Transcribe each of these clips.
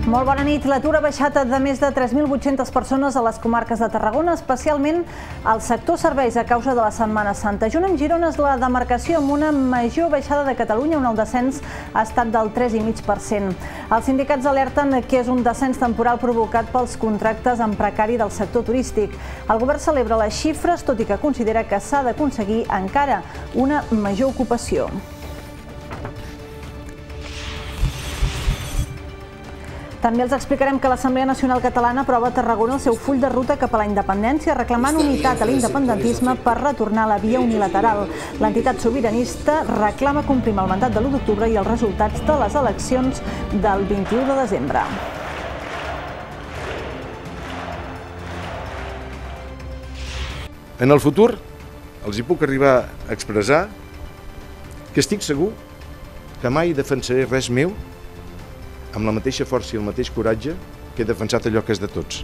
Molt bona nit. L'atur ha baixat de més de 3.800 persones a les comarques de Tarragona, especialment al sector serveis a causa de la Setmana Santa. Junt amb Girona és la demarcació amb una major baixada de Catalunya, on el descens ha estat del 3,5%. Els sindicats alerten que és un descens temporal provocat pels contractes en precari del sector turístic. El govern celebra les xifres, tot i que considera que s'ha d'aconseguir encara una major ocupació. També els explicarem que l'Assemblea Nacional Catalana aprova a Tarragona el seu full de ruta cap a la independència, reclamant unitat a l'independentisme per retornar a la via unilateral. L'entitat sobiranista reclama complir el mandat de l'1 d'octubre i els resultats de les eleccions del 21 de desembre. En el futur els hi puc arribar a expressar que estic segur que mai defensaré res meu amb la mateixa força i el mateix coratge que he defensat allò que és de tots.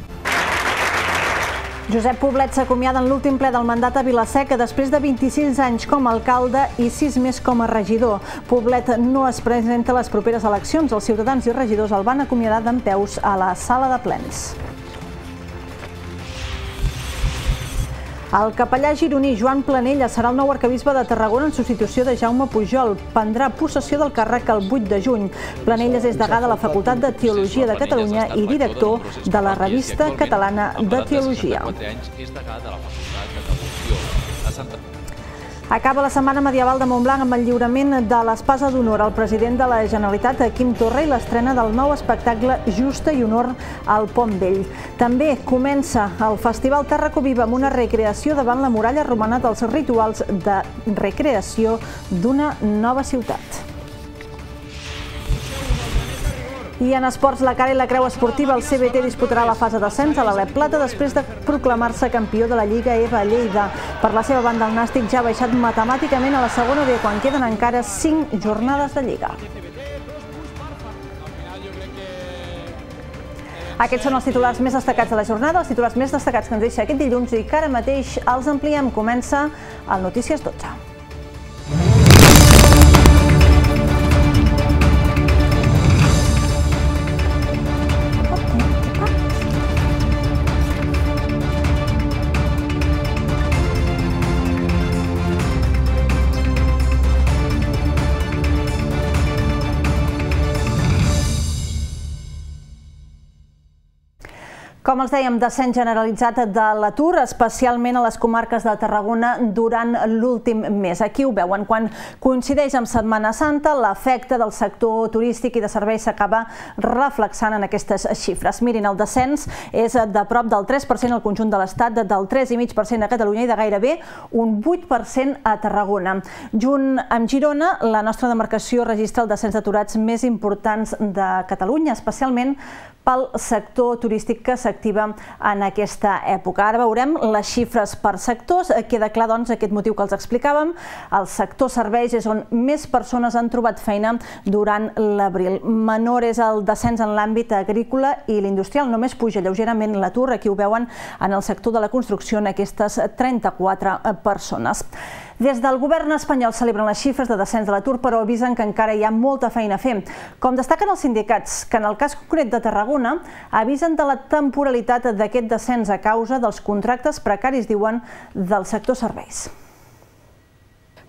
Josep Poblet s'acomiada en l'últim ple del mandat a Vila-seca després de 26 anys com a alcalde i 6 més com a regidor. Poblet no es presenta a les properes eleccions. Els ciutadans i regidors el van acomiadar dempeus a la sala de plens. El capellà gironí Joan Planella serà el nou arquebisbe de Tarragona en substitució de Jaume Pujol. Prendrà possessió del càrrec el 8 de juny. Planelles és degà de la Facultat de Teologia de Catalunya i director de la Revista Catalana de Teologia. Acaba la Setmana Medieval de Montblanc amb el lliurament de l'Espasa d'Honor al president de la Generalitat, Quim Torra, i l'estrena del nou espectacle Justa i Honor al Pont Vell. També comença el Festival Tàrraco Viva amb una recreació davant la muralla romana dels rituals de recreació d'una nova ciutat. I en esports, la cara i la creu esportiva, el CBT disputarà la fase d'ascens a l'Alep Plata després de proclamar-se campió de la Lliga EVA Lleida. Per la seva banda, el Nàstic ja ha baixat matemàticament a la segona B quan queden encara 5 jornades de Lliga. Aquests són els titulars més destacats de la jornada, els titulars més destacats que ens deixa aquest dilluns i que ara mateix els ampliem. Comença el Notícies 12. Com els dèiem, descens generalitzat de l'atur, especialment a les comarques de Tarragona durant l'últim mes. Aquí ho veuen, quan coincideix amb Setmana Santa, l'efecte del sector turístic i de serveis s'acaba reflexant en aquestes xifres. Mirin, el descens és de prop del 3% al conjunt de l'Estat, del 3,5% a Catalunya i de gairebé un 8% a Tarragona. Junt amb Girona, la nostra demarcació registra el descens d'aturats més importants de Catalunya, especialment pel sector turístic que s'activa en aquesta època. Ara veurem les xifres per sectors. Queda clar, doncs, aquest motiu que els explicàvem. El sector serveis és on més persones han trobat feina durant l'abril. Menor és el descens en l'àmbit agrícola i l'industrial. Només puja lleugerament l'atur. Aquí ho veuen en el sector de la construcció, en aquestes 34 persones. Des del govern espanyol celebren les xifres de descens de l'atur, però avisen que encara hi ha molta feina a fer. Com destaquen els sindicats, que en el cas concret de Tarragona avisen de la temporalitat d'aquest descens a causa dels contractes precaris, diuen, del sector serveis.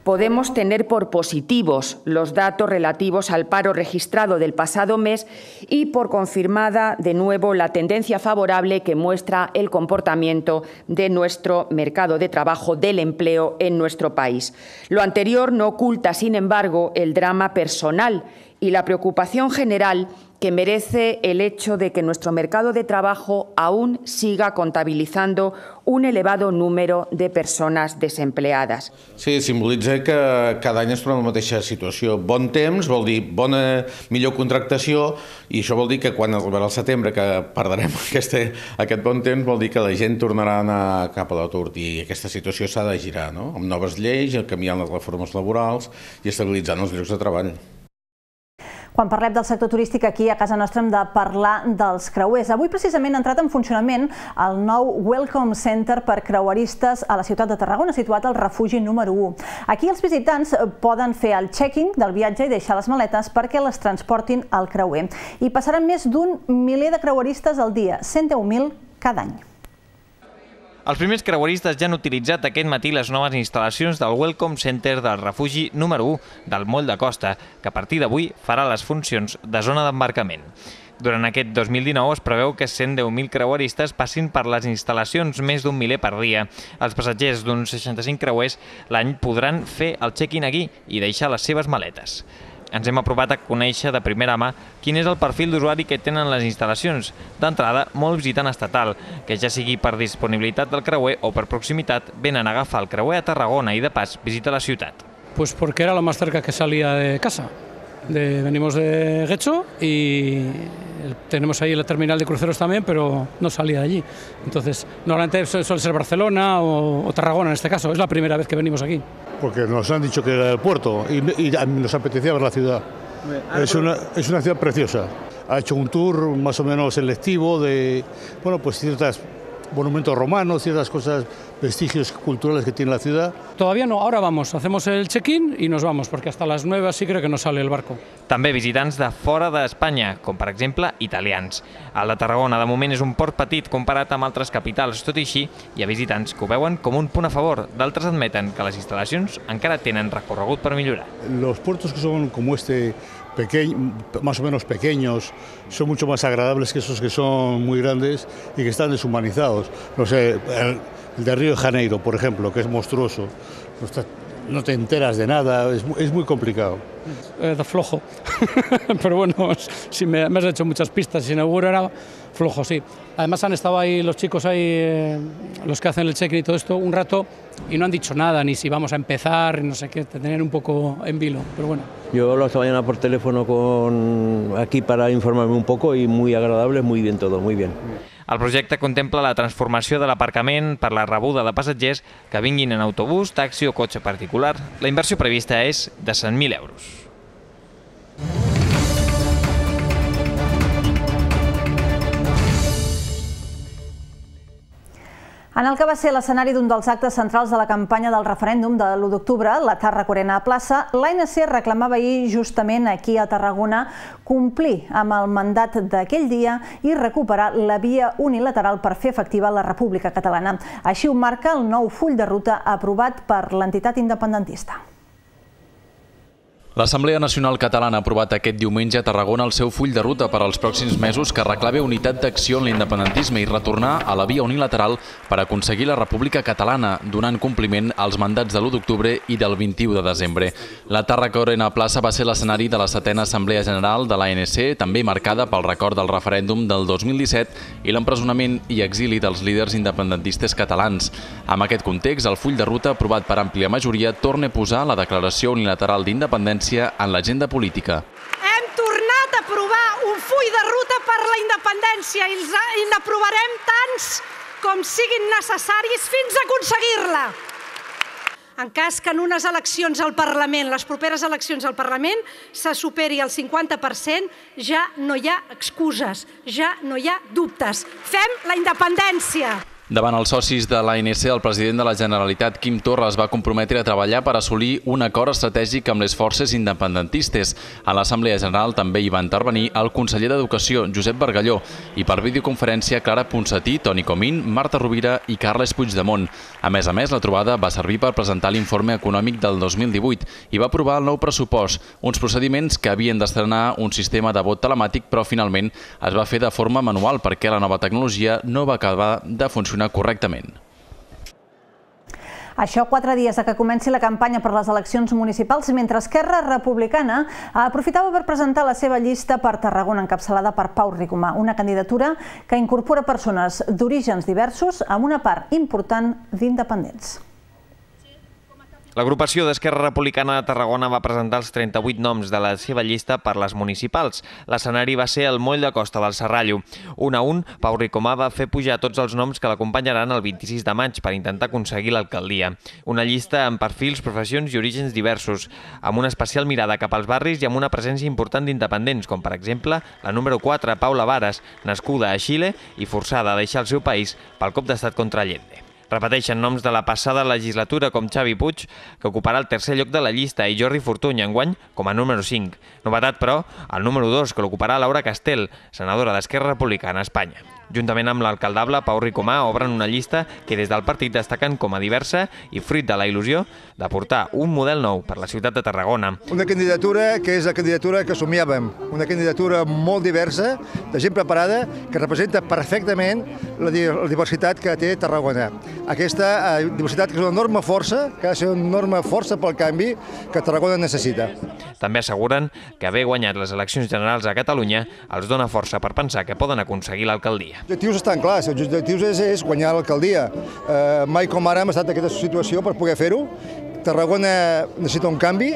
Podemos tener por positivos los datos relativos al paro registrado del pasado mes y por confirmada de nuevo la tendencia favorable que muestra el comportamiento de nuestro mercado de trabajo, del empleo en nuestro país. Lo anterior no oculta, sin embargo, el drama personal y la preocupación general que merece el hecho de que nuestro mercado de trabajo aún siga contabilizando un elevado número de persones desempleades. Sí, simbolitza que cada any es trobem en la mateixa situació. Bon temps vol dir millor contractació i això vol dir que quan arribarà el setembre, que perdrem aquest bon temps, vol dir que la gent tornarà a anar cap a l'atur i aquesta situació s'ha de girar, no? Amb noves lleis, canviant les reformes laborals i estabilitzant els llocs de treball. Quan parlem del sector turístic aquí a casa nostra hem de parlar dels creuers. Avui precisament ha entrat en funcionament el nou Welcome Center per creueristes a la ciutat de Tarragona, situat al refugi número 1. Aquí els visitants poden fer el check-in del viatge i deixar les maletes perquè les transportin al creuer. I passaran més d'un miler de creueristes al dia, 110.000 cada any. Els primers creueristes ja han utilitzat aquest matí les noves instal·lacions del Welcome Center del refugi número 1 del Moll de Costa, que a partir d'avui farà les funcions de zona d'embarcament. Durant aquest 2019 es preveu que 110.000 creueristes passin per les instal·lacions, més d'un miler per dia. Els passatgers d'uns 65 creuers l'any podran fer el check-in aquí i deixar les seves maletes. Ens hem aprovat a conèixer de primera mà quin és el perfil d'usuari que tenen les instal·lacions. D'entrada, molt visitant estatal, que ja sigui per disponibilitat del creuer o per proximitat, venen a agafar el creuer a Tarragona i de pas visita la ciutat. Pues porque era lo más cerca que salía de casa. Venimos de Getxo y tenemos ahí la terminal de cruceros también, pero no salía de allí. Entonces, normalmente suele ser Barcelona o Tarragona en este caso. Es la primera vez que venimos aquí. Porque nos han dicho que era el puerto y nos apetecía ver la ciudad. Es una ciudad preciosa. Ha hecho un tour más o menos selectivo de ciertos monumentos romanos, ciertas cosas, vestigios culturales que tiene la ciudad. Todavía no, ahora vamos, hacemos el check-in y nos vamos, porque hasta las 9 sí creo que no sale el barco. També visitants de fora d'Espanya, com per exemple italians. El de Tarragona de moment és un port petit comparat amb altres capitals, tot i així hi ha visitants que ho veuen com un punt a favor, d'altres admeten que les instal·lacions encara tenen recorregut per millorar. Los puertos que son como este, más o menos pequeños, son mucho más agradables que esos que son muy grandes y que están deshumanizados. No sé, el de Río de Janeiro, por ejemplo, que es monstruoso, no te enteras de nada, es muy complicado. De flojo, pero bueno, si me has hecho muchas pistas, si seguro era flojo, sí. Además han estado ahí los chicos ahí, los que hacen el check-in y todo esto, un rato y no han dicho nada, ni si vamos a empezar, no sé qué, te tenían un poco en vilo, pero bueno. Yo hablo esta mañana por teléfono aquí para informarme un poco y muy agradable, muy bien todo, muy bien. El projecte contempla la transformació de l'aparcament per la rebuda de passatgers que vinguin en autobús, taxi o cotxe particular. La inversió prevista és de 100.000 euros. En el que va ser l'escenari d'un dels actes centrals de la campanya del referèndum de l'1 d'octubre, la Tàrraco Arena Plaça, l'ANC reclamava ahir justament aquí a Tarragona complir amb el mandat d'aquell dia i recuperar la via unilateral per fer efectiva la República Catalana. Així ho marca el nou full de ruta aprovat per l'entitat independentista. L'Assemblea Nacional Catalana ha aprovat aquest diumenge a Tarragona el seu full de ruta per als pròxims mesos que reclama unitat d'acció en l'independentisme i retornar a la via unilateral per aconseguir la República Catalana, donant compliment als mandats de l'1 d'octubre i del 21 de desembre. La Tàrraco Arena Plaça va ser l'escenari de la 7ª Assemblea General de l'ANC, també marcada pel record del referèndum del 2017 i l'empresonament i exili dels líders independentistes catalans. Amb aquest context, el full de ruta aprovat per àmplia majoria torna a posar la declaració unilateral d'independència en l'agenda política. Hem tornat a aprovar un full de ruta per la independència i n'aprovarem tants com siguin necessaris fins a aconseguir-la. En cas que en unes eleccions al Parlament, les properes eleccions al Parlament, se superi el 50%, ja no hi ha excuses, ja no hi ha dubtes. Fem la independència! Davant els socis de l'ANC, el president de la Generalitat, Quim Torra, es va comprometre a treballar per assolir un acord estratègic amb les forces independentistes. A l'Assemblea General també hi va intervenir el conseller d'Educació, Josep Bargalló, i per videoconferència Clara Ponsatí, Toni Comín, Marta Rovira i Carles Puigdemont. A més, la trobada va servir per presentar l'informe econòmic del 2018 i va aprovar el nou pressupost, uns procediments que havien d'estrenar un sistema de vot telemàtic, però finalment es va fer de forma manual perquè la nova tecnologia no va acabar de funcionar correctament. Això 4 dies que comenci la campanya per les eleccions municipals, mentre Esquerra Republicana aprofitava per presentar la seva llista per Tarragona, encapçalada per Pau Ricomà, una candidatura que incorpora persones d'orígens diversos amb una part important d'independents. L'agrupació d'Esquerra Republicana de Tarragona va presentar els 38 noms de la seva llista per les municipals. L'escenari va ser el Moll de Costa del Serrallo. Un a un, Pau Ricomà va fer pujar tots els noms que l'acompanyaran el 26 de maig per intentar aconseguir l'alcaldia. Una llista amb perfils, professions i orígens diversos, amb una especial mirada cap als barris i amb una presència important d'independents, com per exemple la número 4, Paula Vares, nascuda a Xile i forçada a deixar el seu país pel cop d'estat contra Allende. Repeteixen noms de la passada legislatura com Xavi Puig, que ocuparà el tercer lloc de la llista, i Jordi Fortuny, enguany, com a número 5. Novetat, però, el número 2, que l'ocuparà Laura Castel, senadora d'Esquerra Republicana a Espanya. Juntament amb l'alcaldable Pau Ricomà obren una llista que des del partit destaquen com a diversa i fruit de la il·lusió de portar un model nou per la ciutat de Tarragona. Una candidatura que és la candidatura que somiàvem, una candidatura molt diversa, de gent preparada, que representa perfectament la diversitat que té Tarragona. Aquesta diversitat que és una enorme força, que ha de ser una enorme força pel canvi que Tarragona necessita. També asseguren que haver guanyat les eleccions generals a Catalunya els dona força per pensar que poden aconseguir l'alcaldia. Els objectius estan clars, els objectius és guanyar l'alcaldia. Mai com ara hem estat en aquesta situació per poder fer-ho. Tarragona necessita un canvi,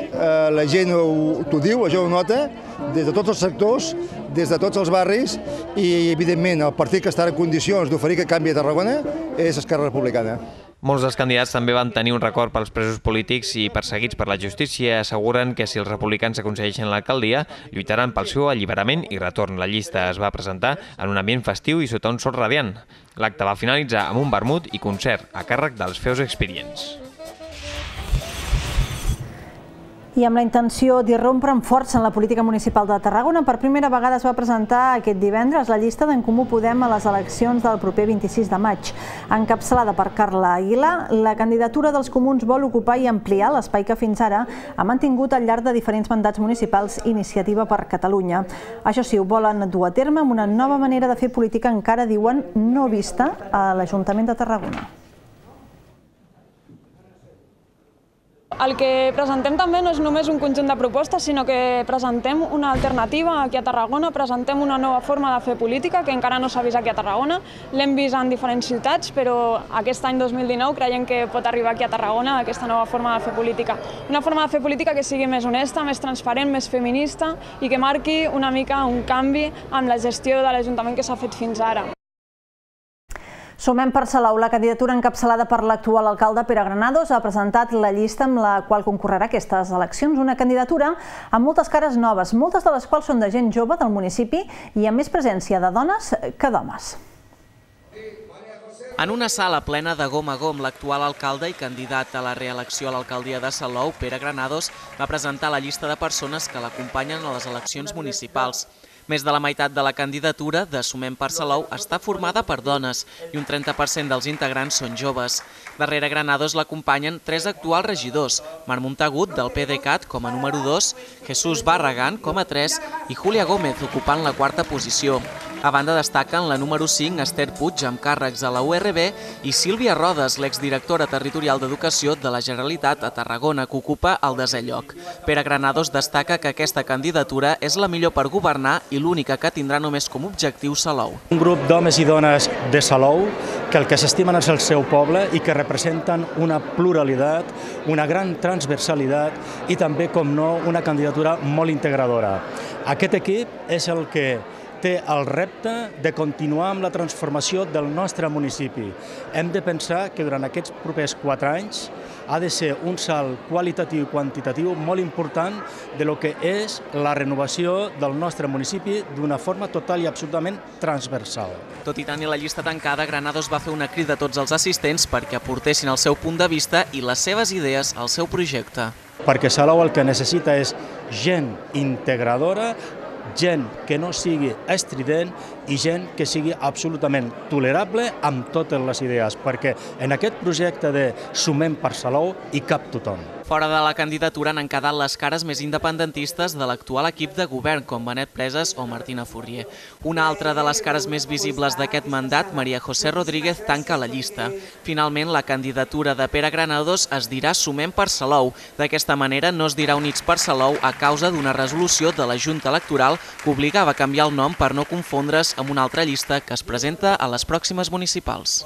la gent t'ho diu, la gent ho nota, des de tots els sectors, des de tots els barris i, evidentment, el partit que està en condicions d'oferir aquest canvi a Tarragona és Esquerra Republicana. Molts dels candidats també van tenir un record pels presos polítics i perseguits per la justícia. Asseguren que si els republicans aconsegueixen l'alcaldia, lluitaran pel seu alliberament i retorn. La llista es va presentar en un ambient festiu i sota un sol radiant. L'acte va finalitzar amb un vermut i concert a càrrec dels Feus Experients. I amb la intenció d'irrompre amb força en la política municipal de Tarragona, per primera vegada es va presentar aquest divendres la llista d'en Comú Podem a les eleccions del proper 26 de maig. Encapçalada per Carla Aguilar, la candidatura dels comuns vol ocupar i ampliar l'espai que fins ara ha mantingut al llarg de diferents mandats municipals Iniciativa per Catalunya. Això sí, ho volen dur a terme amb una nova manera de fer política encara, diuen, no vista a l'Ajuntament de Tarragona. El que presentem també no és només un conjunt de propostes, sinó que presentem una alternativa aquí a Tarragona, presentem una nova forma de fer política que encara no s'ha vist aquí a Tarragona. L'hem vist en diferents ciutats, però aquest any 2019 creiem que pot arribar aquí a Tarragona aquesta nova forma de fer política. Una forma de fer política que sigui més honesta, més transparent, més feminista i que marqui una mica un canvi amb la gestió de l'Ajuntament que s'ha fet fins ara. Sumem per Salou, la candidatura encapçalada per l'actual alcalde Pere Granados ha presentat la llista amb la qual concorrerà aquestes eleccions, una candidatura amb moltes cares noves, moltes de les quals són de gent jove del municipi i amb més presència de dones que d'homes. En una sala plena de gom a gom, l'actual alcalde i candidat a la reelecció a l'alcaldia de Salou, Pere Granados, va presentar la llista de persones que l'acompanyen a les eleccions municipals. Més de la meitat de la candidatura de Sumem per Salou està formada per dones i un 30% dels integrants són joves. Darrere Granados l'acompanyen 3 actuals regidors, Marc Montagut del PDeCAT com a número 2, Jesús Barragán com a 3 i Júlia Gómez ocupant la 4a posició. A banda destaquen la número 5, Esther Puig, amb càrrecs a la URB, i Sílvia Rodes, l'exdirectora territorial d'Educació de la Generalitat a Tarragona, que ocupa el 10è lloc. Pere Granados destaca que aquesta candidatura és la millor per governar i l'única que tindrà només com objectiu Salou. Un grup d'homes i dones de Salou que el que s'estimen és el seu poble i que representen una pluralitat, una gran transversalitat i també, com no, una candidatura molt integradora. Aquest equip és el que té el repte de continuar amb la transformació del nostre municipi. Hem de pensar que durant aquests propers 4 anys ha de ser un salt qualitatiu i quantitatiu molt important de lo que és la renovació del nostre municipi d'una forma total i absolutament transversal. Tot i tenir la llista tancada, Granados va fer una crida a tots els assistents perquè aportessin el seu punt de vista i les seves idees al seu projecte. Perquè Salou el que necessita és gent integradora, gent que no sigui estrident i gent que sigui absolutament tolerable amb totes les idees, perquè en aquest projecte de Sumem per Salou hi cap tothom. Fora de la candidatura han quedat les cares més independentistes de l'actual equip de govern, com Benet Preses o Martina Fourrier. Una altra de les cares més visibles d'aquest mandat, Maria José Rodríguez, tanca la llista. Finalment, la candidatura de Pere Granados es dirà Sumem per Salou. D'aquesta manera no es dirà Units per Salou a causa d'una resolució de la Junta Electoral que obligava a canviar el nom per no confondre's amb una altra llista que es presenta a les pròximes municipals.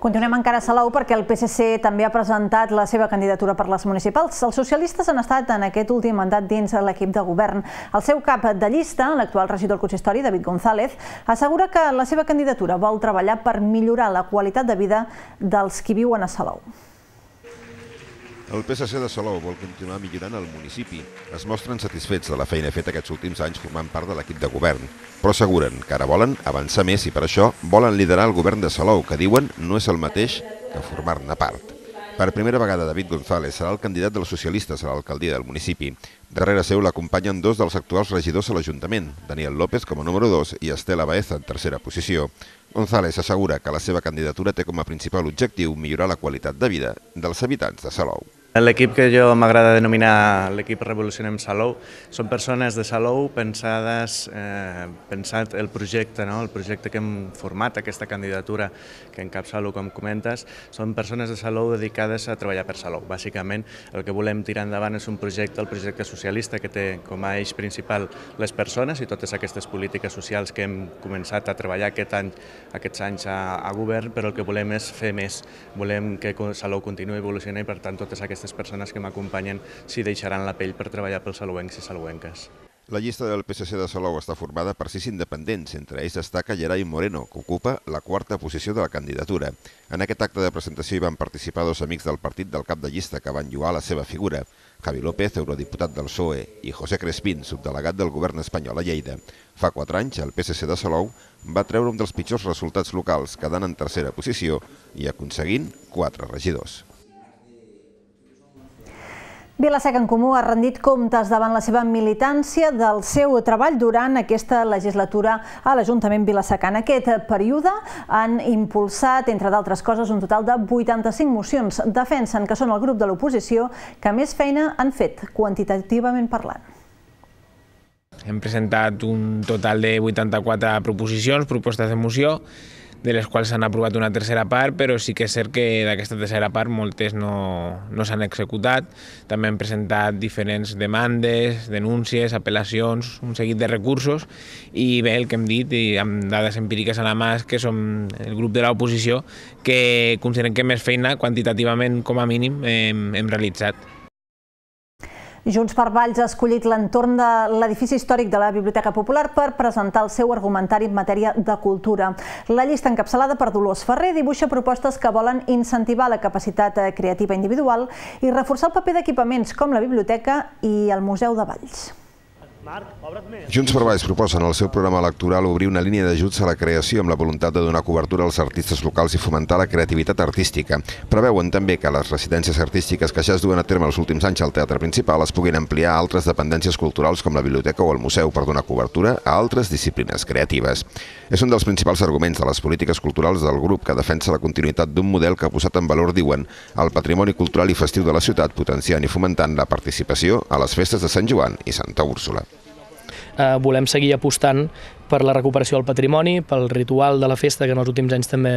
Continuem encara a Salou perquè el PSC també ha presentat la seva candidatura per les municipals. Els socialistes han estat en aquest últim mandat dins l'equip de govern. El seu cap de llista, l'actual regidor del consistori, David González, assegura que la seva candidatura vol treballar per millorar la qualitat de vida dels qui viuen a Salou. El PSC de Salou vol continuar millorant el municipi. Es mostren satisfets de la feina feta aquests últims anys formant part de l'equip de govern, però asseguren que ara volen avançar més i per això volen liderar el govern de Salou, que diuen no és el mateix que formar-ne part. Per primera vegada, David González serà el candidat dels socialistes a l'alcaldia del municipi. Darrere seu l'acompanyen dos dels actuals regidors a l'Ajuntament, Daniel López com a número 2 i Estela Baeza en tercera posició. González assegura que la seva candidatura té com a principal objectiu millorar la qualitat de vida dels habitants de Salou. L'equip que jo m'agrada denominar l'equip Revolucionem Salou són persones de Salou pensat el projecte que hem format, aquesta candidatura que encapçalo, com comentes, són persones de Salou dedicades a treballar per Salou. Bàsicament, el que volem tirar endavant és un projecte, el projecte socialista, que té com a eix principal les persones i totes aquestes polítiques socials que hem començat a treballar aquests anys a govern, però el que volem és fer més. Volem que Salou continuï evolucionant i, per tant, totes aquestes persones que m'acompanyen s'hi deixaran la pell per treballar pels salouencs i salouenques. La llista del PSC de Salou està formada per 6 independents, entre ells destaca Gerai Moreno, que ocupa la 4a posició de la candidatura. En aquest acte de presentació hi van participar 2 amics del partit del cap de llista que van lloar la seva figura, Javi López, eurodiputat del PSOE, i José Crespín, subdelegat del govern espanyol a Lleida. Fa 4 anys, el PSC de Salou va treure un dels pitjors resultats locals, quedant en tercera posició i aconseguint 4 regidors. Vila-seca en Comú ha rendit comptes davant la seva militància del seu treball durant aquesta legislatura a l'Ajuntament vilassecà. En aquest període han impulsat, entre d'altres coses, un total de 85 mocions. Defensen que són el grup de l'oposició que més feina han fet, quantitativament parlant. Hem presentat un total de 84 proposicions, propostes de moció, de les quals s'han aprovat una tercera part, però sí que és cert que d'aquesta tercera part moltes no s'han executat. També hem presentat diferents demandes, denúncies, apel·lacions, un seguit de recursos, i bé, el que hem dit, i amb dades empíriques a la mà, és que som el grup de l'oposició que considerem que més feina, quantitativament com a mínim, hem realitzat. Junts per Valls ha escollit l'entorn de l'edifici històric de la Biblioteca Popular per presentar el seu argumentari en matèria de cultura. La llista encapçalada per Dolors Ferrer dibuixa propostes que volen incentivar la capacitat creativa individual i reforçar el paper d'equipaments com la biblioteca i el Museu de Valls. Junts per Valls proposa en el seu programa electoral obrir una línia d'ajuts a la creació amb la voluntat de donar cobertura als artistes locals i fomentar la creativitat artística. Preveuen també que les residències artístiques que ja es duen a terme els últims anys al teatre principal es puguin ampliar a altres dependències culturals com la biblioteca o el museu per donar cobertura a altres disciplines creatives. És un dels principals arguments de les polítiques culturals del grup, que defensa la continuïtat d'un model que ha posat en valor, diuen, el patrimoni cultural i festiu de la ciutat, potenciant i fomentant la participació a les festes de Sant Joan i Santa Úrsula. Volem seguir apostant per la recuperació del patrimoni, pel ritual de la festa, que en els últims anys també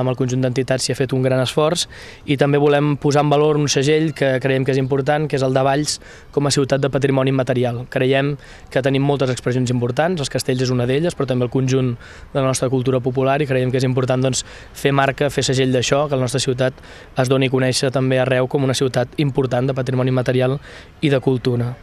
amb el conjunt d'entitats s'hi ha fet un gran esforç, i també volem posar en valor un segell que creiem que és important, que és el de Valls com a ciutat de patrimoni immaterial. Creiem que tenim moltes expressions importants, els castells és una d'elles, però també el conjunt de la nostra cultura popular, i creiem que és important fer marca, fer segell d'això, que la nostra ciutat es doni a conèixer també arreu com una ciutat important de patrimoni immaterial i de cultura.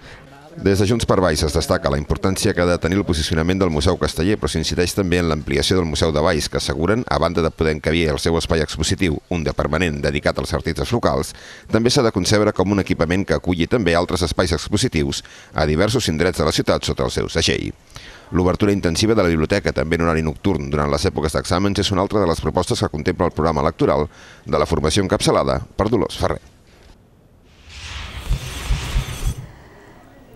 Des de Junts per Valls es destaca la importància que ha de tenir el posicionament del Museu Casteller, però s'incideix també en l'ampliació del Museu de Valls, que asseguren, a banda de poder encabir el seu espai expositiu, un de permanent dedicat als artistes locals, també s'ha de concebre com un equipament que aculli també altres espais expositius a diversos indrets de la ciutat sota el seu segell. L'obertura intensiva de la biblioteca, també en horari nocturn durant les èpoques d'exàmens, és una altra de les propostes que contempla el programa electoral de la formació encapçalada per Dolors Ferrer.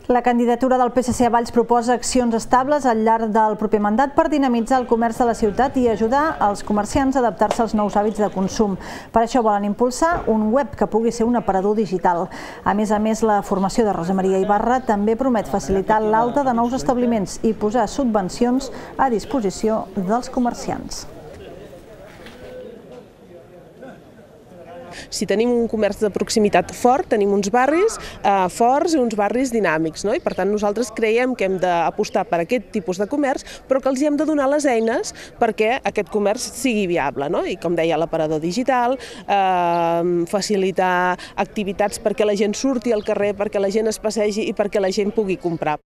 La candidatura del PSC a Valls proposa accions estables al llarg del proper mandat per dinamitzar el comerç de la ciutat i ajudar els comerciants a adaptar-se als nous hàbits de consum. Per això volen impulsar un web que pugui ser un aparador digital. A més, la formació de Rosa Maria Ibarra també promet facilitar l'alta de nous establiments i posar subvencions a disposició dels comerciants. si tenim un comerç de proximitat fort, tenim uns barris forts i uns barris dinàmics, i per tant nosaltres creiem que hem d'apostar per aquest tipus de comerç, però que els hi hem de donar les eines perquè aquest comerç sigui viable, i com deia l'aparador digital, facilitar activitats perquè la gent surti al carrer, perquè la gent es passegi i perquè la gent pugui comprar.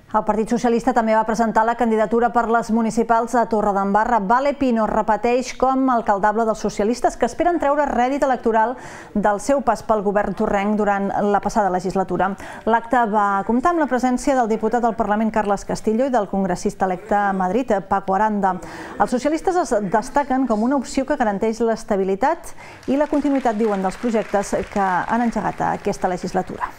El Partit Socialista també va presentar la candidatura per les municipals a Torredembarra. Vale Pino repeteix com alcaldable dels socialistes que esperen treure rèdit electoral del seu pas pel govern torrenc durant la passada legislatura. L'acte va comptar amb la presència del diputat del Parlament Carles Castillo i del congressista electe a Madrid, Paco Aranda. Els socialistes es destaquen com una opció que garanteix l'estabilitat i la continuïtat, diuen, dels projectes que han engegat aquesta legislatura.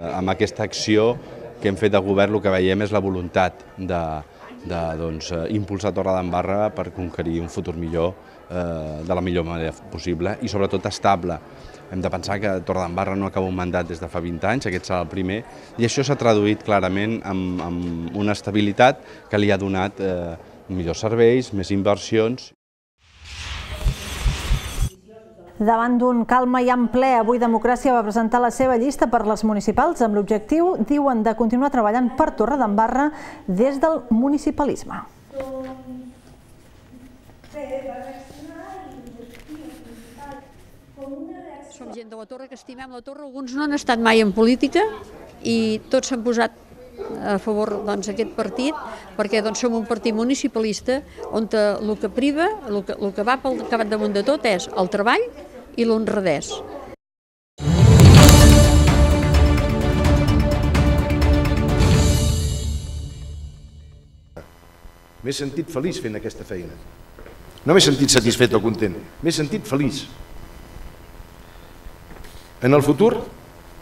Amb aquesta acció que hem fet de govern el que veiem és la voluntat d'impulsar Torredembarra per conquerir un futur millor de la millor manera possible i sobretot estable. Hem de pensar que Torredembarra no acaba un mandat des de fa 20 anys, aquest serà el primer, i això s'ha traduït clarament en una estabilitat que li ha donat millors serveis, més inversions. Davant d'un calma i en ple, avui Democràcia va presentar la seva llista per les municipals amb l'objectiu, diuen, de continuar treballant per Torredembarra des del municipalisme. Som gent de la Torre que estimem la Torre, alguns no han estat mai en política i tots s'han posat a favor d'aquest partit, perquè som un partit municipalista on el que priva, el que va pel capdamunt de tot és el treball i l'honradès. M'he sentit feliç fent aquesta feina. No m'he sentit satisfet o content, m'he sentit feliç. En el futur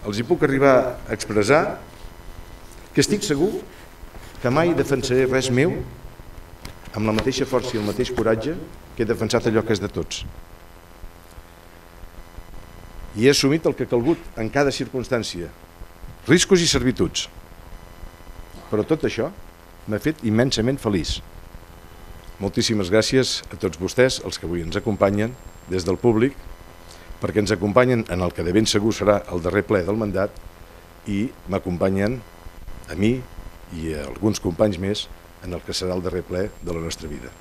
els hi puc arribar a expressar que estic segur que mai defensaré res meu amb la mateixa força i el mateix coratge que he defensat allò que és de tots. I he assumit el que ha calgut en cada circumstància, riscos i servituds. Però tot això m'ha fet immensament feliç. Moltíssimes gràcies a tots vostès, els que avui ens acompanyen des del públic, perquè ens acompanyen en el que de ben segur serà el darrer ple del mandat i m'acompanyen a mi i a alguns companys més en el que serà el darrer ple de la nostra vida.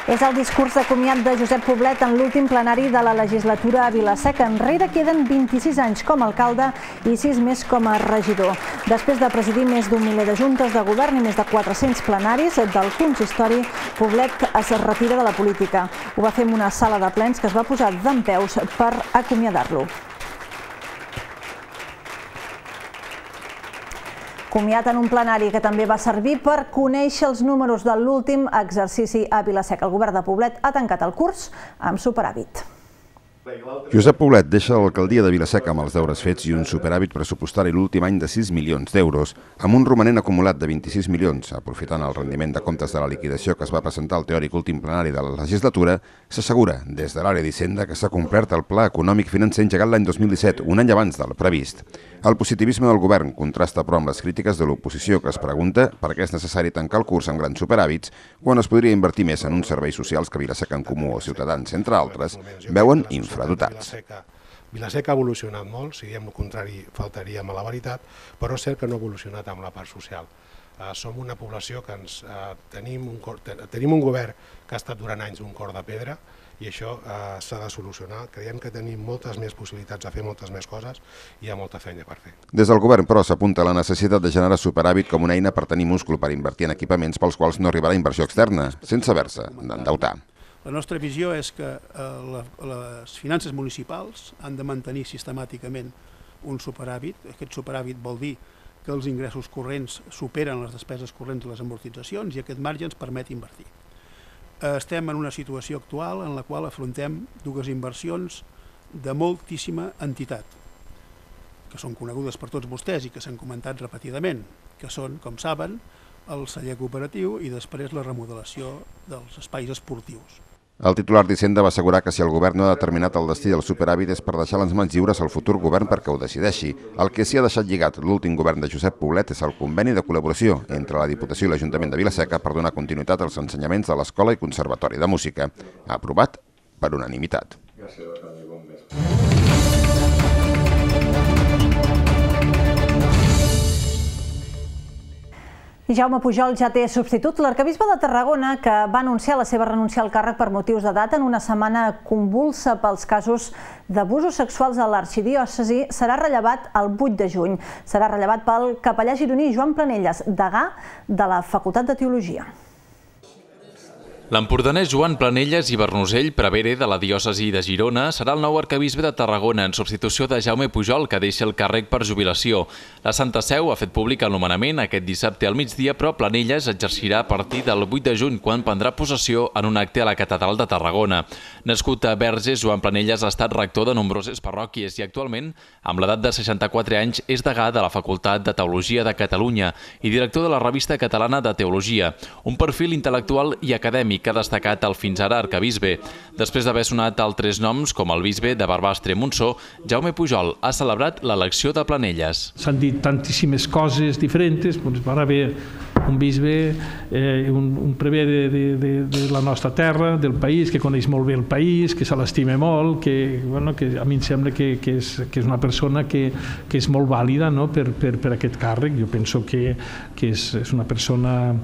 És el discurs de comiat de Josep Poblet en l'últim plenari de la legislatura a Vila-seca. Enrere queden 26 anys com a alcalde i 6 més com a regidor. Després de presidir més d'un miler de juntes de govern i més de 400 plenaris del consistori, Poblet es retira de la política. Ho va fer en una sala de plens que es va posar dempeus per acomiadar-lo. Comiat en un plenari que també va servir per conèixer els números de l'últim exercici a Vila-seca. El govern de Poblet ha tancat el curs amb superàvit. Josep Poblet deixa l'alcaldia de Vila-seca amb els deures fets i un superàvit pressupostari l'últim any de 6 milions d'euros, amb un romanent acumulat de 26 milions. Aprofitant el rendiment de comptes de la liquidació que es va presentar al teòric últim plenari de la legislatura, s'assegura des de l'àrea d'Hisenda que s'ha complert el pla econòmic financer engegat l'any 2017, un any abans del previst. El positivisme del govern contrasta però amb les crítiques de l'oposició que es pregunta per què és necessari tancar el curs amb grans superàvits quan es podria invertir més en uns serveis socials que Vila-seca en Comú o Ciutadans, entre altres, veuen infradotats. Vila-seca ha evolucionat molt, si diem el contrari faltaríem a la veritat, però és cert que no ha evolucionat amb la part social. Som una població que tenim un govern que ha estat durant anys un cor de pedra i això s'ha de solucionar. Creiem que tenim moltes més possibilitats de fer moltes més coses i hi ha molta feina per fer. Des del govern, però, s'apunta la necessitat de generar superàvit com una eina per tenir múscul per invertir en equipaments pels quals no arribarà inversió externa, sense haver-se d'endeutar. La nostra visió és que les finances municipals han de mantenir sistemàticament un superàvit. Aquest superàvit vol dir que els ingressos corrents superen les despeses corrents i les amortitzacions i aquest marge ens permet invertir. Estem en una situació actual en la qual afrontem dues inversions de moltíssima entitat, que són conegudes per tots vostès i que s'han comentat repetidament, que són, com saben, el celler cooperatiu i després la remodelació dels espais esportius. El titular d'Hisenda va assegurar que si el govern no ha determinat el destí del superàvit és per deixar les mans lliures al futur govern perquè ho decideixi. El que s'hi ha deixat lligat l'últim govern de Josep Poblet és el conveni de col·laboració entre la Diputació i l'Ajuntament de Vila-seca per donar continuïtat als ensenyaments de l'Escola i Conservatori de Música. Aprovat per unanimitat. I Jaume Pujol ja té substitut. L'arquebisbe de Tarragona, que va anunciar la seva renúncia al càrrec per motius d'edat en una setmana convulsa pels casos d'abusos sexuals a l'arxidiòcesi, serà rellevat el 8 de juny. Serà rellevat pel capellà gironí Joan Planelles, degà de la Facultat de Teologia. L'empordanès Joan Planelles i Bernusell, prevere de la diòcesi de Girona, serà el nou arquebisbe de Tarragona en substitució de Jaume Pujol, que deixa el càrrec per jubilació. La Santa Seu ha fet públic el nomenament aquest dissabte al migdia, però Planelles exercirà a partir del 8 de juny, quan prendrà possessió en un acte a la Catedral de Tarragona. Nascut a Verges, Joan Planelles ha estat rector de nombroses parròquies i actualment, amb l'edat de 64 anys, és degà de la Facultat de Teologia de Catalunya i director de la Revista Catalana de Teologia, un perfil intel·lectual i acadèmic que ha destacat el fins ara arquebisbe. Després d'haver sonat altres noms, com el bisbe de Barbastre-Montsó, Jaume Pujol ha celebrat l'elecció de Planelles. S'han dit tantíssimes coses diferents, va haver un bisbe, un prevere de la nostra terra, del país, que coneix molt bé el país, que se l'estima molt, que a mi em sembla que és una persona que és molt vàlida per aquest càrrec. Jo penso que és una persona,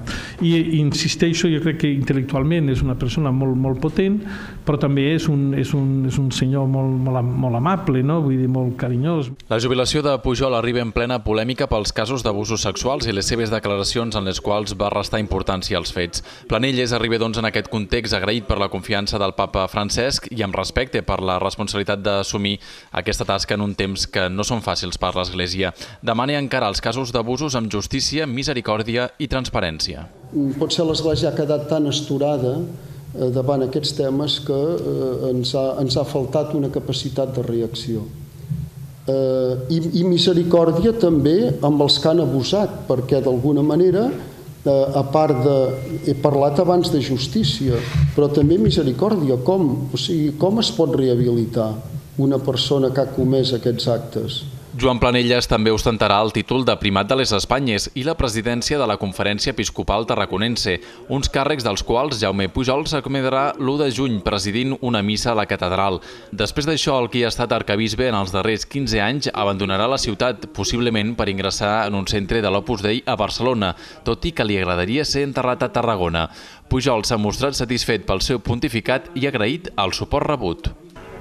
i insisteixo, jo crec que intel·lectualment és una persona molt potent, però també és un senyor molt amable, vull dir, molt carinyós. La jubilació de Pujol arriba en plena polèmica pels casos d'abusos sexuals i les seves declaracions en les quals va restar importància als fets. Planelles arriba doncs en aquest context agraït per la confiança del papa Francesc i amb respecte per la responsabilitat d'assumir aquesta tasca en un temps que no són fàcils per l'Església. Demana encarar els casos d'abusos amb justícia, misericòrdia i transparència. Potser l'Església ha quedat tan esturada davant aquests temes que ens ha faltat una capacitat de reacció. I misericòrdia també amb els que han abusat, perquè d'alguna manera, a part de... He parlat abans de justícia, però també misericòrdia. Com es pot rehabilitar una persona que ha comès aquests actes? Joan Planelles també ostentarà el títol de primat de les Espanyes i la presidència de la Conferència Episcopal Tarraconense, uns càrrecs dels quals Jaume Pujol s'acomiadarà l'1 de juny presidint una missa a la catedral. Després d'això, el qui ha estat arquebisbe en els darrers 15 anys abandonarà la ciutat, possiblement per ingressar en un centre de l'Opus Dei a Barcelona, tot i que li agradaria ser enterrat a Tarragona. Pujol s'ha mostrat satisfet pel seu pontificat i agraït el suport rebut.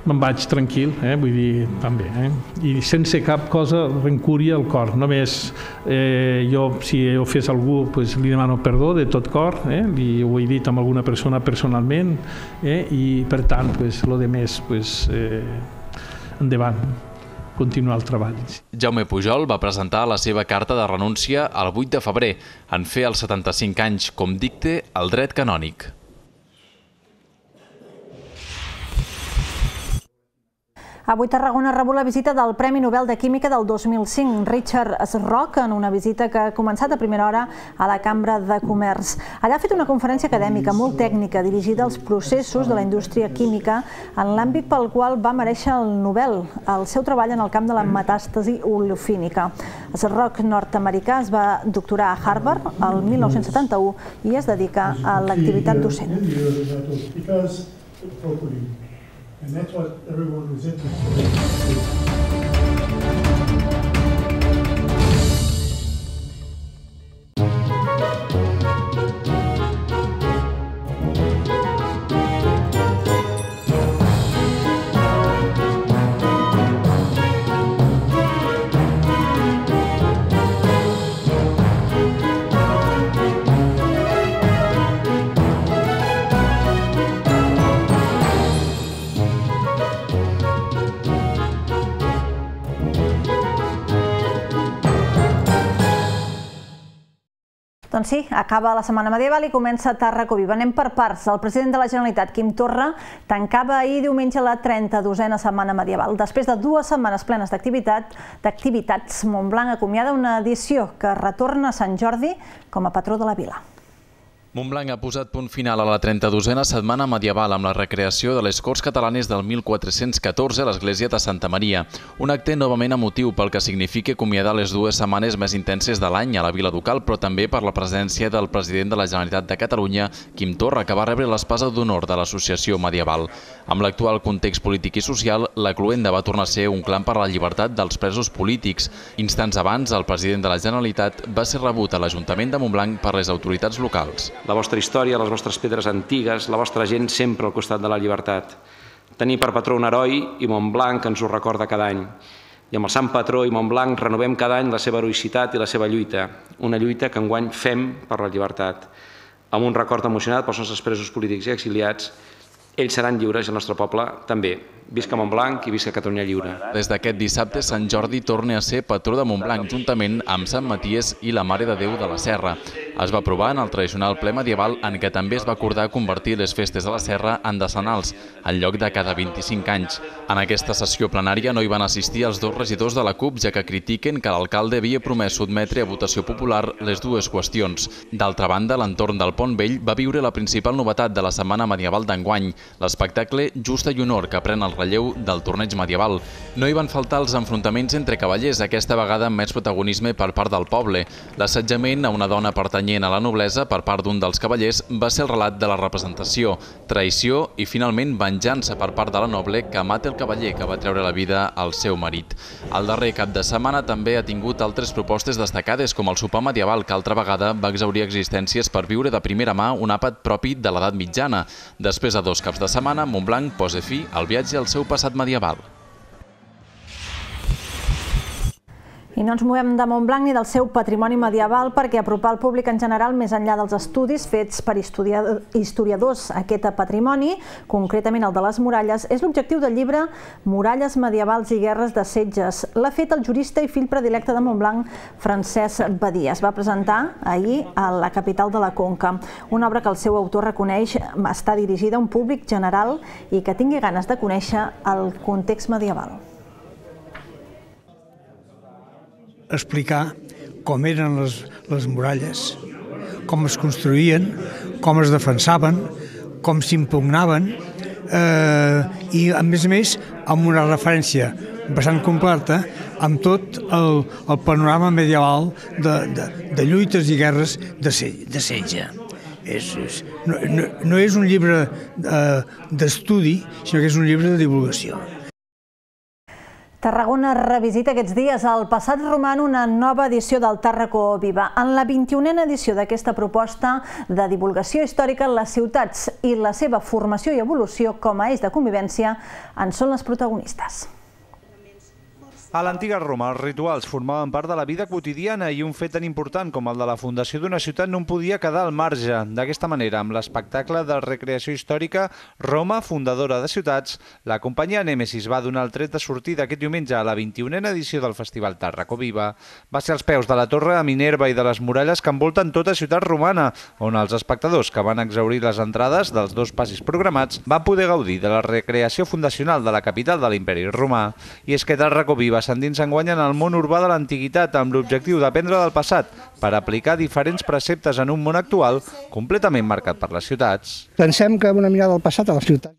Me'n vaig tranquil, vull dir, també, i sense cap cosa rencúria al cor. Només jo, si he ofès algú, li demano perdó de tot cor, ho he dit amb alguna persona personalment, i per tant, el de més, endavant, continuar el treball. Jaume Pujol va presentar la seva carta de renúncia el 8 de febrer, en fer els 75 anys, com dicta el dret canònic. Avui Tarragona ha rebut la visita del Premi Nobel de Química del 2005, Richard Schrock, en una visita que ha començat a primera hora a la Cambra de Comerç. Allà ha fet una conferència acadèmica molt tècnica dirigida als processos de la indústria química en l'àmbit pel qual va merèixer el Nobel, el seu treball en el camp de la metàstasi oleofínica. Schrock, nord-americà, es va doctorar a Harvard el 1971 i es dedica a l'activitat docent. And that's what everyone was interested in. Doncs sí, acaba la Setmana Medieval i comença Tàrraco Viva. Anem per parts. El president de la Generalitat, Quim Torra, tancava ahir diumenge la 32a Setmana Medieval. Després de 2 setmanes plenes d'activitats, Montblanc acomiada una edició que retorna a Sant Jordi com a patró de la vila. Montblanc ha posat punt final a la 32a setmana medieval amb la recreació de les Corts Catalanes del 1414 a l'església de Santa Maria. Un acte novament emotiu pel que significa acomiadar les dues setmanes més intenses de l'any a la Vila Ducal, però també per la presència del president de la Generalitat de Catalunya, Quim Torra, que va rebre l'espasa d'honor de l'associació medieval. Amb l'actual context polític i social, la cloenda va tornar a ser un clam per a la llibertat dels presos polítics. Instants abans, el president de la Generalitat va ser rebut a l'Ajuntament de Montblanc per les autoritats locals. La vostra història, les vostres pedres antigues, la vostra gent sempre al costat de la llibertat. Tenir per patró un heroi i Montblanc ens ho recorda cada any. I amb el sant patró i Montblanc renovem cada any la seva heroïcitat i la seva lluita. Una lluita que enguany fem per la llibertat. Amb un record emocionat pels nostres presos polítics i exiliats, ells seran lliures i el nostre poble també. Visca Montblanc i visca Catalunya lliure. Des d'aquest dissabte, Sant Jordi torna a ser patró de Montblanc, juntament amb Sant Maties i la Mare de Déu de la Serra. Es va aprovar en el tradicional ple medieval en què també es va acordar convertir les festes de la Serra en decenals, en lloc de cada 25 anys. En aquesta sessió plenària no hi van assistir els dos regidors de la CUP, ja que critiquen que l'alcalde havia promès sotmetre a votació popular les dues qüestions. D'altra banda, l'entorn del Pont Vell va viure la principal novetat de la setmana medieval d'enguany, l'espectacle Justa i Honor, que pren el relleu del torneig medieval. No hi van faltar els enfrontaments entre cavallers, aquesta vegada amb més protagonisme per part del poble. L'assetjament a una dona pertanyent a la noblesa per part d'un dels cavallers va ser el relat de la representació, traïció i finalment venjança per part de la noble que mata el cavaller que va treure la vida al seu marit. El darrer cap de setmana també ha tingut altres propostes destacades, com el sopar medieval, que altra vegada va exhaurir existències per viure de primera mà un àpat propi de l'edat mitjana. Després de 2 caps de setmana, Montblanc posa fi al viatge al seu passat medieval. I no ens movem de Montblanc ni del seu patrimoni medieval perquè apropar al públic en general, més enllà dels estudis fets per historiadors aquest patrimoni, concretament el de les muralles, és l'objectiu del llibre Muralles medievals i guerres de setges. L'ha fet el jurista i fill predilecte de Montblanc, Francesc Badia. Es va presentar ahir a la capital de la Conca. Una obra que el seu autor reconeix està dirigida a un públic general i que tingui ganes de conèixer el context medieval. Explicar com eren les muralles, com es construïen, com es defensaven, com s'impugnaven i, a més, amb una referència bastant completa amb tot el panorama medieval de lluites i guerres de setge. No és un llibre d'estudi, sinó que és un llibre de divulgació. Tarragona revisita aquests dies el passat romà en una nova edició del Tàrraco Viva. En la 21a edició d'aquesta proposta de divulgació històrica, les ciutats i la seva formació i evolució com a eix de convivència en són les protagonistes. A l'antiga Roma, els rituals formaven part de la vida quotidiana i un fet tan important com el de la fundació d'una ciutat no en podia quedar al marge. D'aquesta manera, amb l'espectacle de recreació històrica Roma, fundadora de ciutats, la companyia Nèmesis va donar el tret de sortida aquest diumenge a la 21a edició del Festival Tàrraco Viva. Va ser als peus de la Torre de Minerva i de les muralles que envolten tota ciutat romana, on els espectadors que van exhaurir les entrades dels 2 passis programats van poder gaudir de la recreació fundacional de la capital de l'Imperi Romà. I és que Tàrraco Viva s'endinsa enguany en el món urbà de l'antiguitat amb l'objectiu d'aprendre del passat per aplicar diferents preceptes en un món actual completament marcat per les ciutats. Pensem que una mirada al passat a les ciutats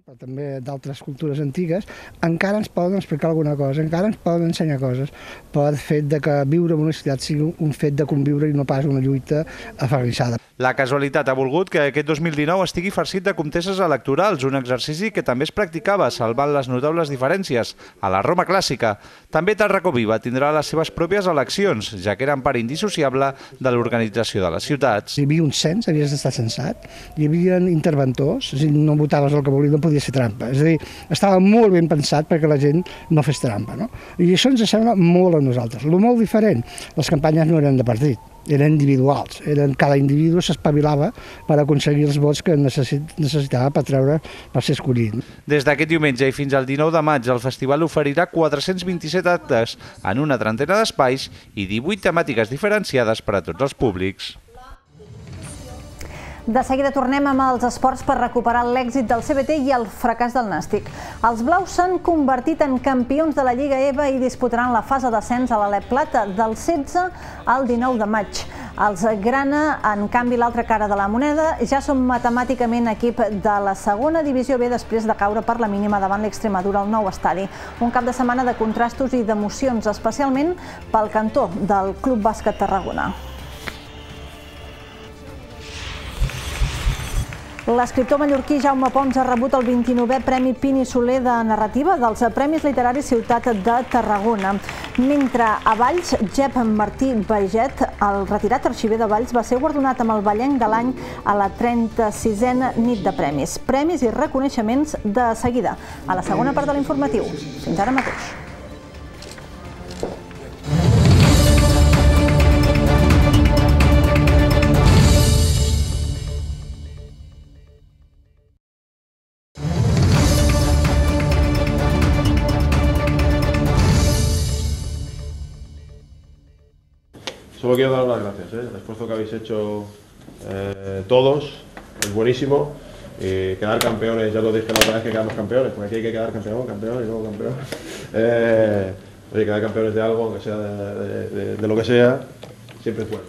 però també d'altres cultures antigues, encara ens poden explicar alguna cosa, encara ens poden ensenyar coses pel fet que viure en una ciutat sigui un fet de conviure i no pas una lluita aferrissada. La casualitat ha volgut que aquest 2019 estigui farcit de comtesses electorals, un exercici que també es practicava, salvant les notables diferències a la Roma clàssica. També Tàrraco Viva tindrà les seves pròpies eleccions, ja que eren part indissociable de l'organització de les ciutats. Hi havia un cens, havies d'estar censat, hi havia interventors, és a dir, no votaves el que volies, no podies fer trampa. És a dir, estava molt ben pensat perquè la gent no fes trampa, no? I això ens sembla molt a nosaltres. El molt diferent, les campanyes no eren de partit, eren individuals. Cada individu s'espavilava per aconseguir els vots que necessitava per ser escollit. Des d'aquest diumenge i fins al 19 de maig, el festival oferirà 427 actes en una trentena d'espais i 18 temàtiques diferenciades per a tots els públics. De seguida tornem amb els esports per recuperar l'èxit del CBT i el fracàs del Nàstic. Els blaus s'han convertit en campions de la Lliga EVA i disputaran la fase d'ascens a l'Alep Plata del 16 al 19 de maig. Els grana, en canvi, l'altra cara de la moneda, ja són matemàticament equip de la segona divisió B després de caure per la mínima davant l'Extremadura al nou estadi. Un cap de setmana de contrastos i d'emocions, especialment pel cantó del Club Bàsquet Tarragona. L'escriptor mallorquí Jaume Pons ha rebut el 29è Premi Pini Soler de Narrativa dels Premis Literaris Ciutat de Tarragona. Mentre a Valls, Jep Martí Baiget, el retirat arxiver de Valls, va ser guardonat amb el Vallenc de l'any a la 36a nit de premis. Premis i reconeixements de seguida, a la segona part de l'informatiu. Fins ara mateix. Solo quiero daros las gracias, el esfuerzo que habéis hecho todos es buenísimo y quedar campeones, ya lo dije la otra vez que quedamos campeones, porque aquí hay que quedar campeón y luego campeón. Oye, quedar campeones de algo, aunque sea de lo que sea, siempre es bueno.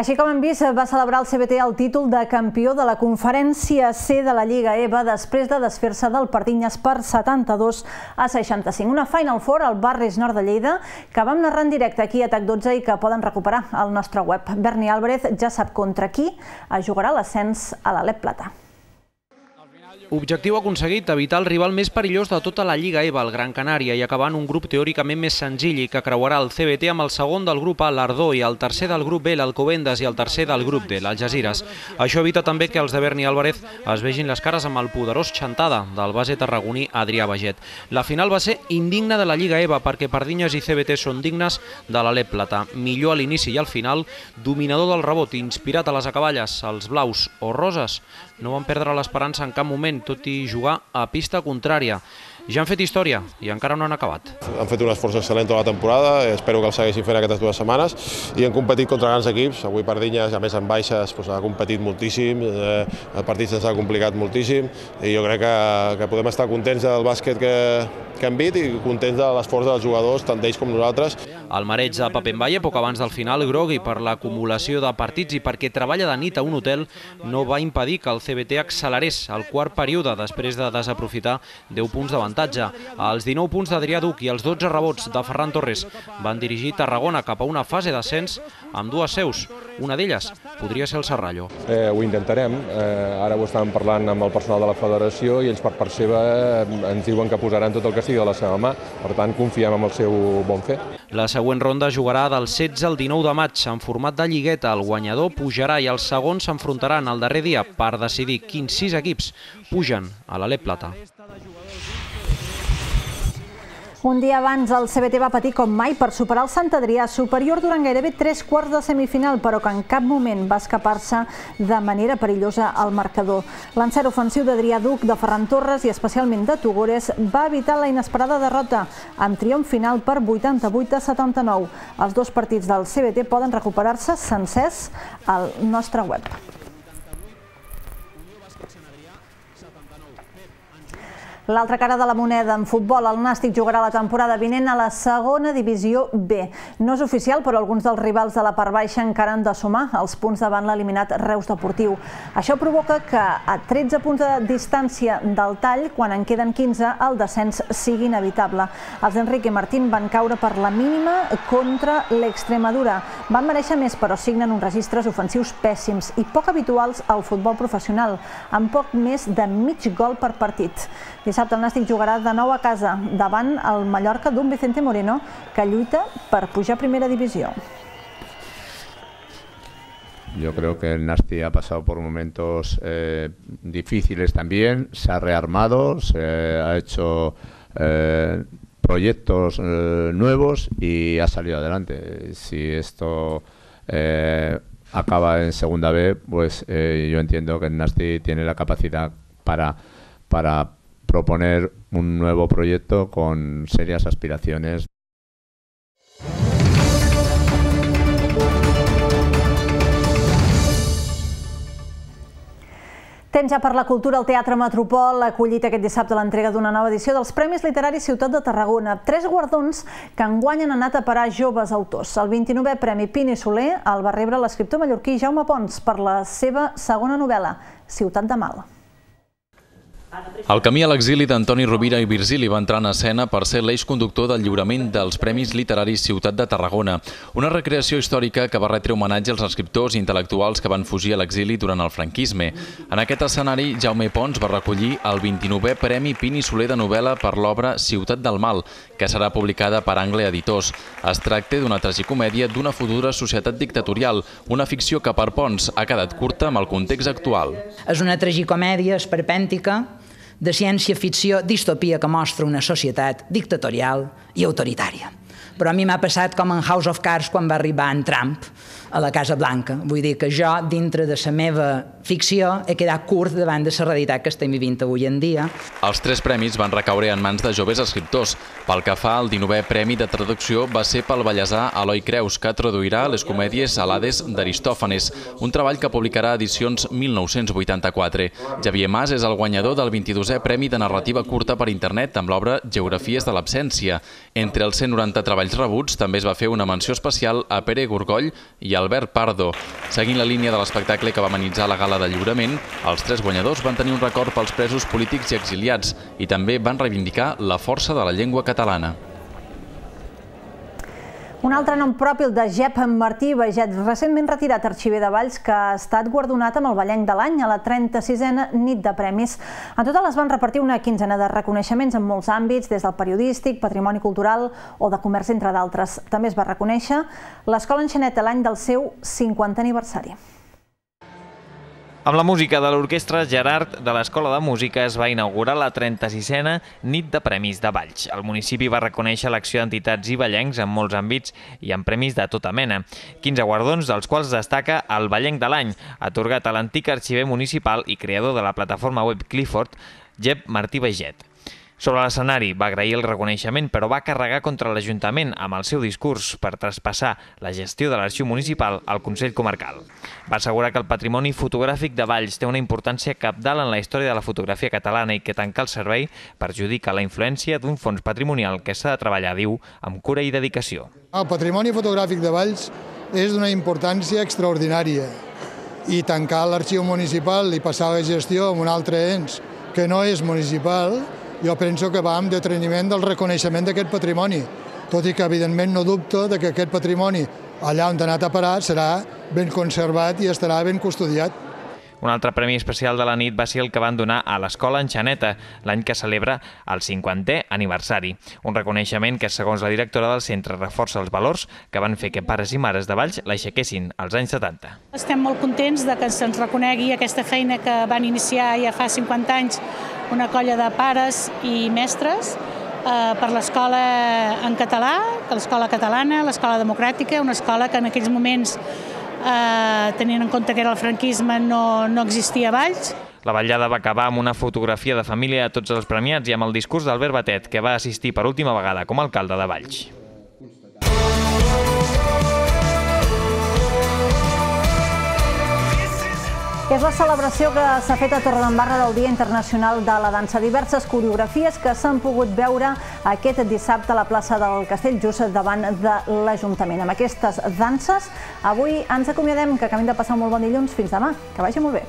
Així com hem vist, va celebrar el CBT el títol de campió de la conferència C de la Lliga EVA després de desfer-se del Pardinyes per 72-65. Una Final Four al Barris Nord de Lleida que vam narrar en directe aquí a TAC12 i que poden recuperar al nostre web. Berni Álvarez ja sap contra qui jugarà l'ascens a l'Alep Plata. Objectiu aconseguit, evitar el rival més perillós de tota la Lliga EVA, el Gran Canària, i acabar en un grup teòricament més senzill i que creuarà el CBT amb el segon del grup A, l'Ardó, i el tercer del grup B, l'Alcobendas, i el tercer del grup D, l'Algesires. Això evita també que els de Berni Álvarez es vegin les cares amb el poderós Chantada del base tarragoní Adrià Baget. La final va ser indigna de la Lliga EVA perquè Pardinyes i CBT són dignes de l'Alep Plata. Millor a l'inici i al final, dominador del rebot, inspirat a les acaballes, els blaus o roses, no van perdre l'esperança en cap moment, tot i jugar a pista contrària. Ja han fet història i encara no han acabat. Han fet un esforç excel·lent tota la temporada, espero que el segueixin fent aquestes 2 setmanes, i han competit contra grans equips. Avui Pardinyes, a més en baixes, ha competit moltíssim, el partit se'ns ha complicat moltíssim, i jo crec que podem estar contents del bàsquet que hem vist i contents de l'esforç dels jugadors, tant d'ells com nosaltres. El mareig de Papenvalle, poc abans del final, grogui per l'acumulació de partits i perquè treballa de nit a un hotel, no va impedir que el CBT accelerés el quart període després de desaprofitar 10 punts d'avantatge. Els 19 punts d'Adrià Duc i els 12 rebots de Ferran Torres van dirigir Tarragona cap a una fase d'ascens amb 2 seus. Una d'elles podria ser el Serrallo. Ho intentarem. Ara ho estàvem parlant amb el personal de la federació i ells per part seva ens diuen que posaran tot el que sigui a la seva mà. Per tant, confiem en el seu bon fer. La següent ronda jugarà del 16 al 19 de maig en format de lligueta. El guanyador pujarà i els segons s'enfrontaran el darrer dia per decidir quins 6 equips pugen a l'Alep Plata. Un dia abans el CBT va patir com mai per superar el Sant Adrià, superior durant gairebé 3 quarts de semifinal, però que en cap moment va escapar-se de manera perillosa al marcador. L'encert ofensiu d'Adrià Duc, de Ferran Torres i especialment de Tugores va evitar la inesperada derrota, amb triomf final per 88-79. Els 2 partits del CBT poden recuperar-se sencers al nostre web. L'altra cara de la moneda en futbol, el Nàstic jugarà la temporada vinent a la segona divisió B. No és oficial, però alguns dels rivals de la part baixa encara han de sumar els punts davant l'eliminat Reus Deportiu. Això provoca que a 13 punts de distància del tall, quan en queden 15, el descens sigui inevitable. Els d'Enrique Martín van caure per la mínima contra l'Extremadura. Van mereixer més, però signen uns registres ofensius pèssims i poc habituals al futbol professional, amb poc més de mig gol per partit. Dissabte el Nàstic jugarà de nou a casa davant el Mallorca d'un Vicente Moreno que lluita per pujar a primera divisió. Yo creo que el Nasti ha pasado por momentos difíciles también, se ha rearmado, se ha hecho proyectos nuevos y ha salido adelante. Si esto acaba en segunda B, pues yo entiendo que el Nasti tiene la capacidad para proponer un nuevo proyecto con serias aspiraciones. Temps ja per la cultura. El Teatre Metropol ha acollit aquest dissabte l'entrega d'una nova edició dels Premis Literaris Ciutat de Tarragona. 3 guardons que enguany han anat a parar a joves autors. El 29è Premi Pini Soler el va rebre l'escriptor mallorquí Jaume Pons per la seva segona novel·la, Ciutat de Mal. El camí a l'exili d'Antoni Rovira i Virgili va entrar en escena per ser l'eix conductor del lliurament dels Premis Literaris Ciutat de Tarragona, una recreació històrica que va retre homenatge als escriptors i intel·lectuals que van fugir a l'exili durant el franquisme. En aquest escenari, Jaume Pons va recollir el 29è Premi Pini Soler de novel·la per l'obra Ciutat del Mal, que serà publicada per Angle Editors. Es tracta d'una tragicomèdia d'una futura societat dictatorial, una ficció que per Pons ha quedat curta amb el context actual. És una tragicomèdia esperpèntica de ciència-ficció, distopia que mostra una societat dictatorial i autoritària. Però a mi m'ha passat com en House of Cards quan va arribar en Trump a la Casa Blanca. Vull dir que jo, dintre de la meva ficció, he quedat curt davant de la realitat que estem vivint avui en dia. Els 3 premis van recaure en mans de joves escriptors. Pel que fa al 19è Premi de Traducció va ser pel ballesà Eloi Creus, que traduirà les comèdies Alades d'Aristòfanes, un treball que publicarà edicions 1984. Xavier Mas és el guanyador del 22è Premi de Narrativa Curta per Internet amb l'obra Geografies de l'Absència. Entre els 190 treballs rebuts també es va fer una menció especial a Pere Gorgoll i Albert Pardo. Seguint la línia de l'espectacle que va amenitzar la gala de lliurament, els 3 guanyadors van tenir un record pels presos polítics i exiliats i també van reivindicar la força de la llengua catalana. Un altre nom propi, el de Jep Martí Baiget, recentment retirat arxiver de Valls, que ha estat guardonat amb el Vallenc de l'any a la 36a nit de premis. En total es van repartir una quinzena de reconeixements en molts àmbits, des del periodístic, patrimoni cultural o de comerç, entre d'altres. També es va reconèixer l'Escola Enxaneta l'any del seu 50è aniversari. Amb la música de l'Orquestra Gerard de l'Escola de Música es va inaugurar la 36a nit de premis de Valls. El municipi va reconèixer l'acció d'entitats i vallencs en molts àmbits i amb premis de tota mena. 15 guardons, dels quals destaca el Vallenc de l'any, atorgat a l'antic arxiver municipal i creador de la plataforma web Clifford, Jep Martí Baiget. Sobre l'escenari va agrair el reconeixement, però va carregar contra l'Ajuntament amb el seu discurs per traspassar la gestió de l'arxiu municipal al Consell Comarcal. Va assegurar que el patrimoni fotogràfic de Valls té una importància cabdal en la història de la fotografia catalana i que tancar el servei perjudica la influència d'un fons patrimonial que s'ha de treballar, diu, amb cura i dedicació. El patrimoni fotogràfic de Valls és d'una importància extraordinària i tancar l'arxiu municipal i passar la gestió a un altre ens que no és municipal, jo penso que va amb deteniment del reconeixement d'aquest patrimoni, tot i que evidentment no dubto que aquest patrimoni, allà on ha anat a parar, serà ben conservat i estarà ben custodiat. Un altre premi especial de la nit va ser el que van donar a l'Escola Enxaneta, l'any que celebra el 50è aniversari. Un reconeixement que, segons la directora del centre, reforça els valors que van fer que pares i mares de Valls l'aixequessin als anys 70. Estem molt contents que se'ns reconegui aquesta feina que van iniciar ja fa 50 anys una colla de pares i mestres per l'escola en català, l'escola catalana, l'escola democràtica, una escola que en aquells moments, tenint en compte que era el franquisme, no existia a Valls. La vetllada va acabar amb una fotografia de família a tots els premiats i amb el discurs d'Albert Batet, que va assistir per última vegada com a alcalde de Valls. És la celebració que s'ha fet a Torredembarra del Dia Internacional de la Dansa. Diverses coreografies que s'han pogut veure aquest dissabte a la plaça del Castell, just davant de l'Ajuntament. Amb aquestes danses, avui ens acomiadem, que acabem de passar un molt bon dilluns. Fins demà, que vagi molt bé.